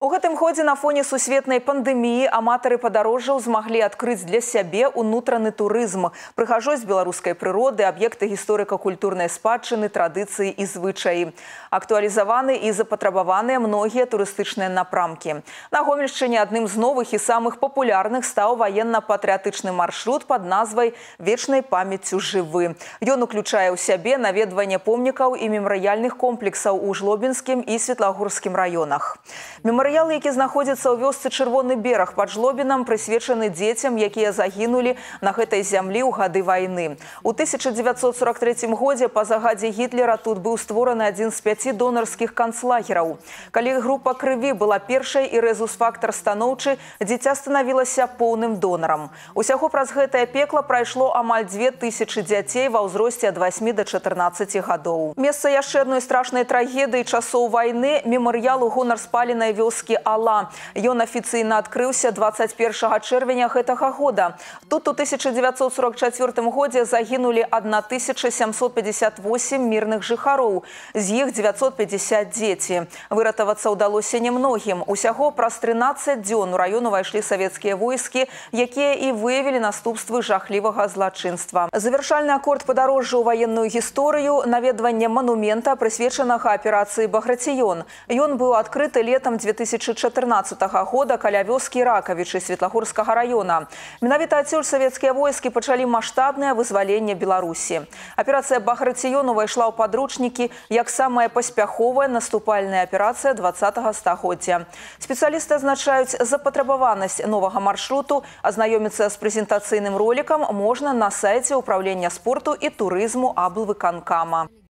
У гэтым годзе на фоне сусветнай пандэміі аматары падарожжаў змаглі адкрыць для сябе ўнутраны турызм, прыгажосць беларускай прыроды, аб'екты гісторыка-культурнай спадчыны, традыцыі і звычаі. Актуалізаваны і запатрабаваныя многія турыстычныя напрамкі. На Гомельшчыне адным з новых і самых папулярных стаў ваенна-патрыятычны маршрут пад назвай «Вечнай памяццю жывы». Ён уключае ў сябе наведванне помнікаў і мемарыяльных комплексаў у Жлобінскім і Светлагорскім раёнах. Мемарыялы, які знаходзяцца ў вёсцы Чырвоны бераг пад Жлобінам, прысвечаны дзецям, якія загінулі на гэтай зямлі ў гады вайны. У 1943 годзе па загадзе Гітлера тут быў створаны адзін з 5 донарскіх канцлагераў. Калі група крыві была першай і рэзус-фактар станоўчы, дзіця станавілася поўным донарам. Усяго праз гэтае пекла прайшло амаль 2000 дзяцей ва ўзросце ад 8 до 14 гадоў. Месца яшчэ адной страшнай трагедыі часоў вайны – мемарыял у гонар спаленай вёскі Ала. Ён афіцыйна адкрыўся 21 чэрвеня гэтага года. Тут у 1944 годзе загінулі 1758 мірных жыхароў, з іх 950 дзеці. Выратавацца ўдалося немногім. Усяго праз 13 дзён у раён увайшлі савецкія войскі, якія і выявілі наступствы жахлівага злачынства. Завяршальны акорд падарожжа ў ваенную гісторыю – наведванне манумента, прысвечанага аперацыі «Баграцыён». Ён быў адкрыты летам 2014 года каля вёскі Ракавічы Светлагорскага раёна. Менавіта адсюль савецкія войскі пачалі маштабнае вызваленне Беларусі. Аперацыя «Баграцыён» увайшла ў падручнікі як самая паспяховая наступальная аперацыя 20-го стагоддзя. Спецыялісты адзначаюць запатрабаванасць новага маршруту. Азнаёміцца з прэзентацыйным ролікам можна на сайце ўправлення спорту і турызму аблвыканкама.